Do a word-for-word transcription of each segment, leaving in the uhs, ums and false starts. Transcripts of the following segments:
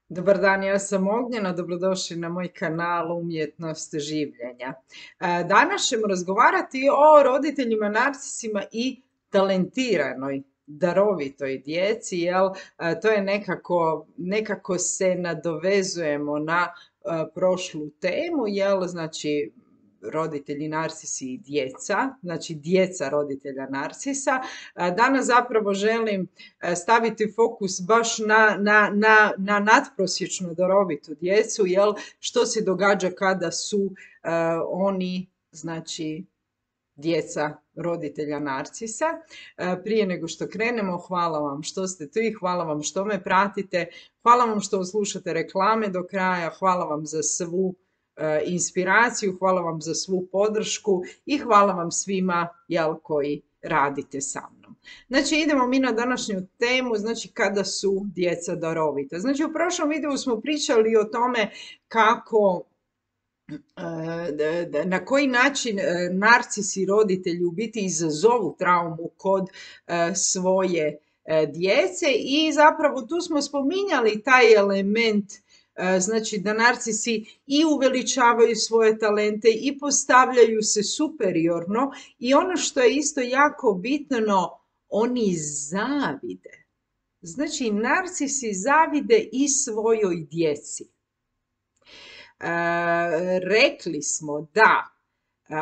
Dobar dan, ja sam Ognjena, dobrodošli na moj kanal Umjetnost življenja. E, Danas ćemo razgovarati o roditeljima narcisima i talentiranoj, darovitoj djeci, jel? E, To je nekako, nekako se nadovezujemo na e, prošlu temu, jel? Znači, roditelji narcisi i djeca, znači djeca roditelja narcisa. E, Danas zapravo želim staviti fokus baš na, na, na, na nadprosječno darovitu djecu, jel, što se događa kada su uh, oni, znači, djeca roditelja narcisa. Uh, prije nego što krenemo, hvala vam što ste tu i hvala vam što me pratite, hvala vam što slušate reklame do kraja, hvala vam za svu uh, inspiraciju, hvala vam za svu podršku i hvala vam svima, jel, koji radite sa mnom. Znači, idemo mi na današnju temu, znači kada su djeca darovita. Znači, u prošlom videu smo pričali o tome kako, na koji način narcisi roditelji u biti izazovu traumu kod svoje djece i zapravo tu smo spominjali taj element, znači da narcisi i uveličavaju svoje talente i postavljaju se superiorno i ono što je isto jako bitno, oni zavide. Znači, narcisi zavide i svojoj djeci. E, rekli smo da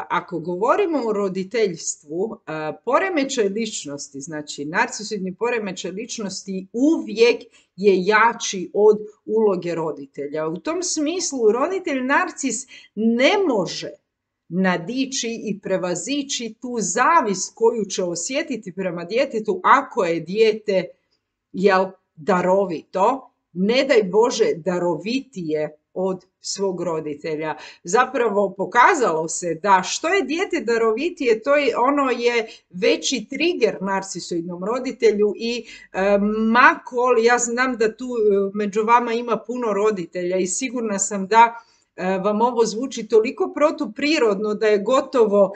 ako govorimo o roditeljstvu, poremećaj ličnosti, znači narcisoidni poremećaj ličnosti uvijek je jači od uloge roditelja. U tom smislu roditelj narcis ne može nadići i prevazići tu zavist koju će osjetiti prema djetetu ako je dijete, jel, darovito, ne daj Bože darovitije od svog roditelja. Zapravo pokazalo se da što je dijete darovitije, to je, ono je veći trigger narcisoidnom roditelju i e, makol, ja znam da tu među vama ima puno roditelja i sigurna sam da e, vam ovo zvuči toliko protuprirodno da je gotovo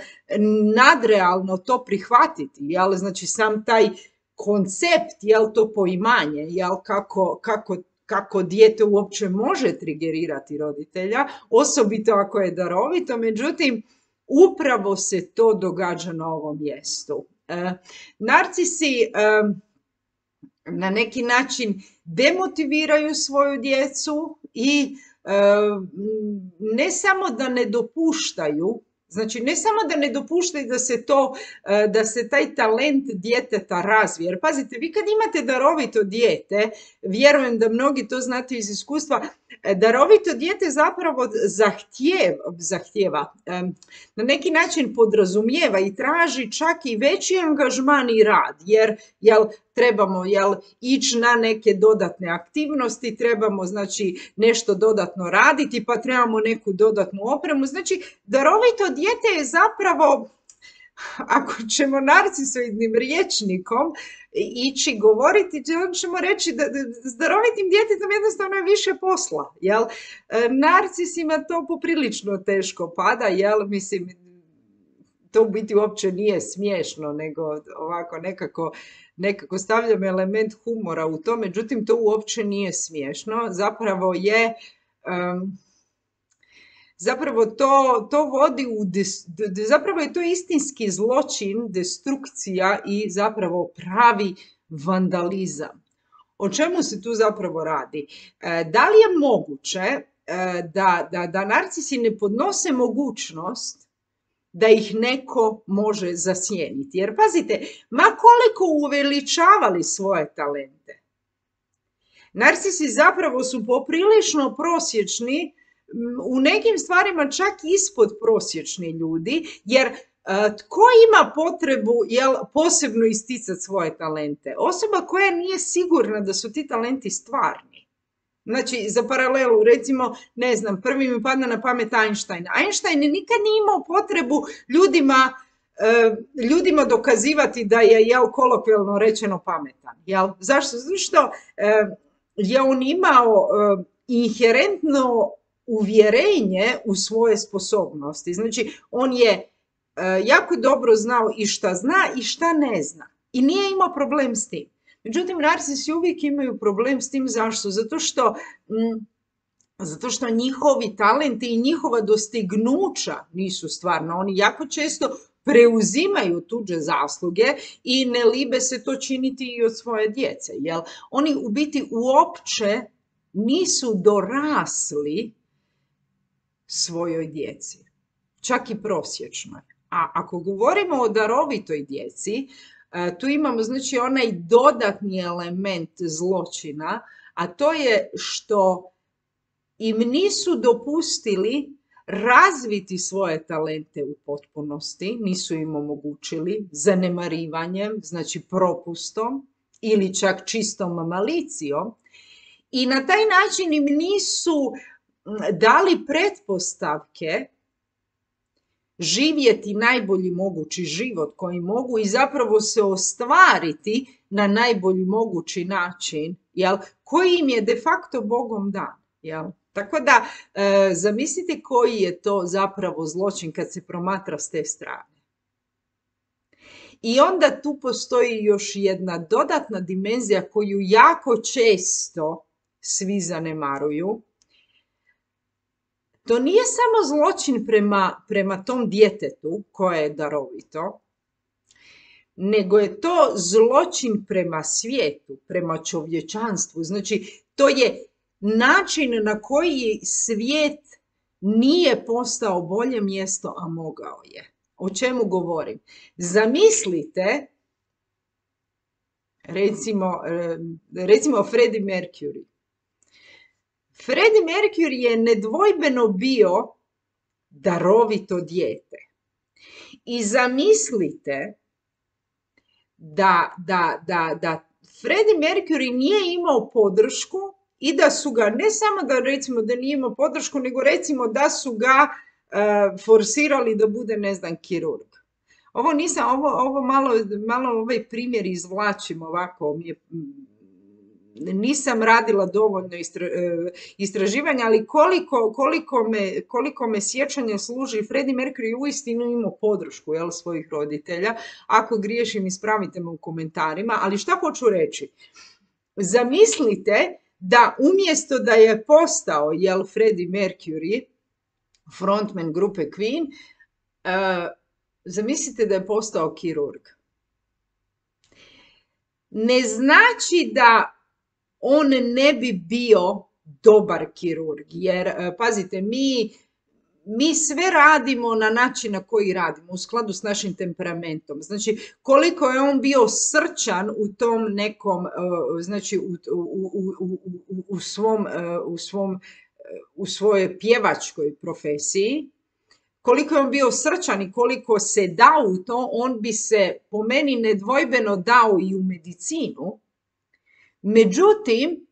nadrealno to prihvatiti, jel? Znači sam taj koncept, jel, to poimanje, jel, kako, kako kako dijete uopće može trigerirati roditelja, osobito ako je darovito, međutim, upravo se to događa na ovom mjestu. E, narcisi e, na neki način demotiviraju svoju djecu i e, ne samo da ne dopuštaju, znači ne samo da ne dopuštaju da se to, da se taj talent djeteta razvije. Jer pazite, vi kad imate darovito dijete, vjerujem da mnogi to znate iz iskustva, darovito dijete zapravo zahtjeva, zahtjeva na neki način podrazumijeva i traži čak i veći angažman i rad, jer jel, trebamo jel, ići na neke dodatne aktivnosti, trebamo znači nešto dodatno raditi, pa trebamo neku dodatnu opremu. Znači, darovito dijete je zapravo, ako ćemo narcisoidnim rječnikom ići govoriti, ćemo reći da, da s darovitim djetetom jednostavno je više posla. Jel? Narcisima to poprilično teško pada, jel? Mislim, to u biti uopće nije smiješno, nego ovako nekako, nekako stavljam element humora u to, međutim to uopće nije smiješno. Zapravo je... Um, Zapravo to, to vodi u, des, zapravo je to istinski zločin, destrukcija i zapravo pravi vandalizam. O čemu se tu zapravo radi? E, da li je moguće e, da, da, da narcisi ne podnose mogućnost da ih neko može zasjeniti? Jer pazite, ma koliko uveličavali svoje talente, narcisi zapravo su poprilično prosječni, u nekim stvarima čak ispod prosječni ljudi, jer tko ima potrebu, jel, posebno isticati svoje talente? Osoba koja nije sigurna da su ti talenti stvarni. Znači, za paralelu, recimo, ne znam, prvi mi padne na pamet Einstein. Einstein nikad nije imao potrebu ljudima, ljudima dokazivati da je, jel, kolokvijalno rečeno pametan. Jel? Zašto? Zato što je on imao inherentno uvjerenje u svoje sposobnosti. Znači, on je e, jako dobro znao i šta zna i šta ne zna. I nije imao problem s tim. Međutim, narcisi uvijek imaju problem s tim. Zašto? Zato što, mm, zato što njihovi talenti i njihova dostignuća nisu stvarna. Oni jako često preuzimaju tuđe zasluge i ne libe se to činiti i od svoje djece. Jel? Oni u biti uopće nisu dorasli svojoj djeci, čak i prosječnoj. A ako govorimo o darovitoj djeci, tu imamo znači onaj dodatni element zločina, a to je što im nisu dopustili razviti svoje talente u potpunosti, nisu im omogućili zanemarivanjem, znači propustom ili čak čistom malicijom, i na taj način im nisu dali pretpostavke živjeti najbolji mogući život koji mogu i zapravo se ostvariti na najbolji mogući način, jel, koji im je de facto Bogom dan. Jel? Tako da e, zamislite koji je to zapravo zločin kad se promatra s te strane. I onda tu postoji još jedna dodatna dimenzija koju jako često svi zanemaruju. To nije samo zločin prema, prema tom djetetu koje je darovito, nego je to zločin prema svijetu, prema čovječanstvu. Znači, to je način na koji svijet nije postao bolje mjesto, a mogao je. O čemu govorim? Zamislite, recimo, recimo Freddie Mercury. Freddie Mercury je nedvojbeno bio darovito dijete. I zamislite da, da, da, da Freddie Mercury nije imao podršku i da su ga, ne samo da recimo da nije imao podršku, nego recimo da su ga uh, forsirali da bude, ne znam, kirurg. Ovo nisam, ovo, ovo malo, malo ovaj primjer izvlačim ovako, mi je, nisam radila dovoljno istra, istraživanja, ali koliko, koliko, me, koliko me sjećanje služi, Freddie Mercury uistinu imao podršku, jel, svojih roditelja. Ako griješim, ispravite me u komentarima, ali šta hoću reći? Zamislite da umjesto da je postao, jel, Freddie Mercury, frontman grupe Queen, uh, zamislite da je postao kirurg. Ne znači da on ne bi bio dobar kirurg, jer, pazite, mi, mi sve radimo na način na koji radimo, u skladu s našim temperamentom. Znači, koliko je on bio srčan u tom nekom, znači, u, u, u, u, u, svom, u, svom, u svojoj pjevačkoj profesiji, koliko je on bio srčan i koliko se dao u to, on bi se po meni nedvojbeno dao i u medicinu. Međutim,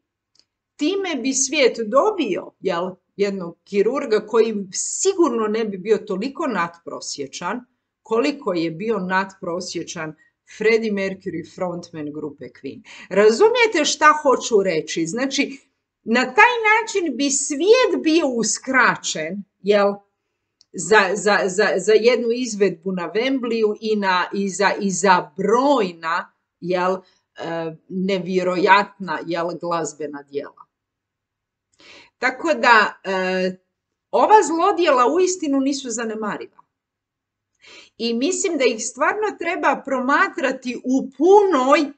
time bi svijet dobio, jel, jednog kirurga koji sigurno ne bi bio toliko nadprosječan koliko je bio nadprosječan Freddie Mercury, frontman grupe Queen. Razumijete šta hoću reći? Znači, na taj način bi svijet bio uskraćen, jel, za, za, za, za jednu izvedbu na Wembleyu i, na, i, za, i za brojna, jel, nevjerojatna, jel, glazbena djela. Tako da e, ova zlodjela uistinu nisu zanemariva. I mislim da ih stvarno treba promatrati u punoj,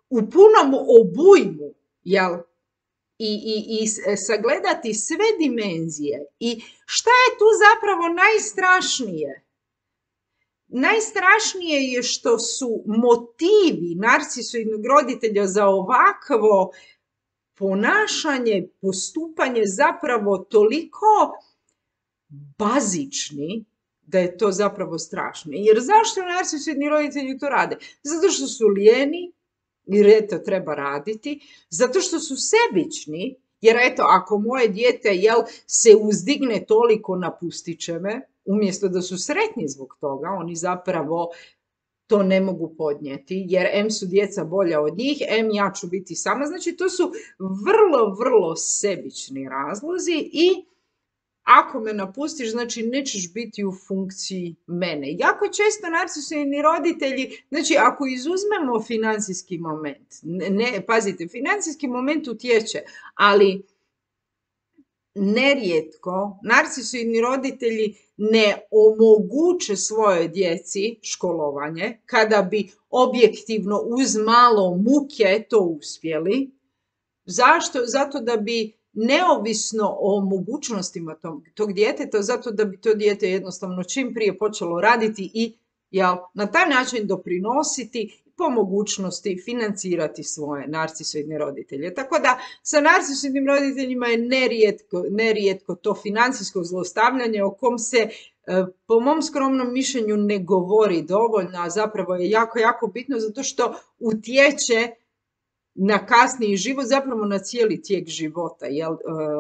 u punom obujmu, jel? I, i, i sagledati sve dimenzije. I šta je tu zapravo najstrašnije? Najstrašnije je što su motivi narcisoidnog roditelja za ovakvo ponašanje, postupanje zapravo toliko bazični da je to zapravo strašno. Jer zašto narcisoidni roditelji to rade? Zato što su lijeni, jer eto treba raditi, zato što su sebični, jer eto ako moje dijete, jel, se uzdigne toliko, napustit će me, umjesto da su sretni zbog toga, oni zapravo to ne mogu podnijeti, jer em su djeca bolja od njih, em ja ću biti sama. Znači, to su vrlo, vrlo sebični razlozi i ako me napustiš, znači nećeš biti u funkciji mene. Jako često narcisoidni roditelji, znači ako izuzmemo financijski moment, ne, pazite, financijski moment utječe, ali nerijetko narcisoidni roditelji ne omoguće svojoj djeci školovanje kada bi objektivno uz malo muke to uspjeli. Zašto? Zato da bi neovisno o mogućnostima tog, tog djeteta, zato da bi to dijete jednostavno čim prije počelo raditi i jel, na taj način doprinositi po mogućnosti financirati svoje narcisoidne roditelje. Tako da sa narcisoidnim roditeljima je nerijetko, nerijetko to financijsko zlostavljanje o kom se po mom skromnom mišljenju ne govori dovoljno, a zapravo je jako, jako bitno zato što utječe na kasniji život, zapravo na cijeli tijek života jel,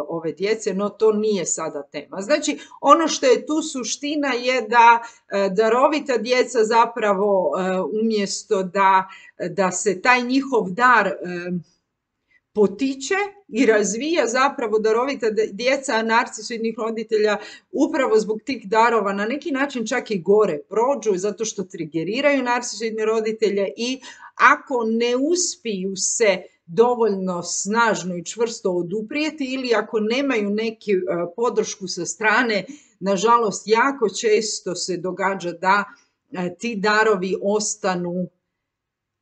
ove djece, no to nije sada tema. Znači, ono što je tu suština je da darovita djeca zapravo umjesto da, da se taj njihov dar potiče i razvija, zapravo darovita djeca narcisoidnih roditelja upravo zbog tih darova na neki način čak i gore prođu zato što trigeriraju narcisoidne roditelje i ako ne uspiju se dovoljno snažno i čvrsto oduprijeti ili ako nemaju neku podršku sa strane, nažalost jako često se događa da ti darovi ostanu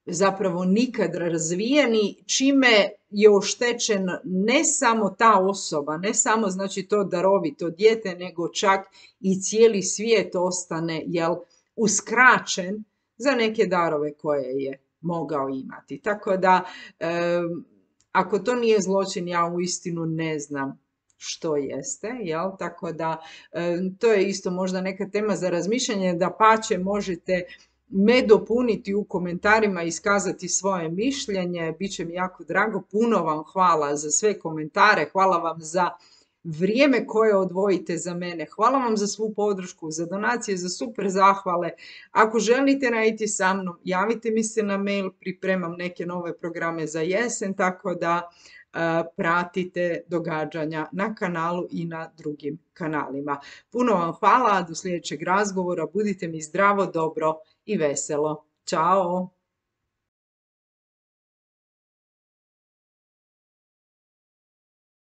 zapravo nikad razvijeni, čime je oštećen ne samo ta osoba, ne samo znači to darovito dijete, nego čak i cijeli svijet ostane jel, uskraćen za neke darove koje je mogao imati. Tako da, e, ako to nije zločin, ja uistinu ne znam što jeste, jel? Tako da, e, to je isto možda neka tema za razmišljanje, da pače možete me dopuniti u komentarima i iskazati svoje mišljenje, bit će mi jako drago. Puno vam hvala za sve komentare, hvala vam za vrijeme koje odvojite za mene, hvala vam za svu podršku, za donacije, za super zahvale. Ako želite raditi sa mnom, javite mi se na mail, pripremam neke nove programe za jesen, tako da uh, pratite događanja na kanalu i na drugim kanalima. Puno vam hvala, do sljedećeg razgovora, budite mi zdravo, dobro i veselo. Ćao!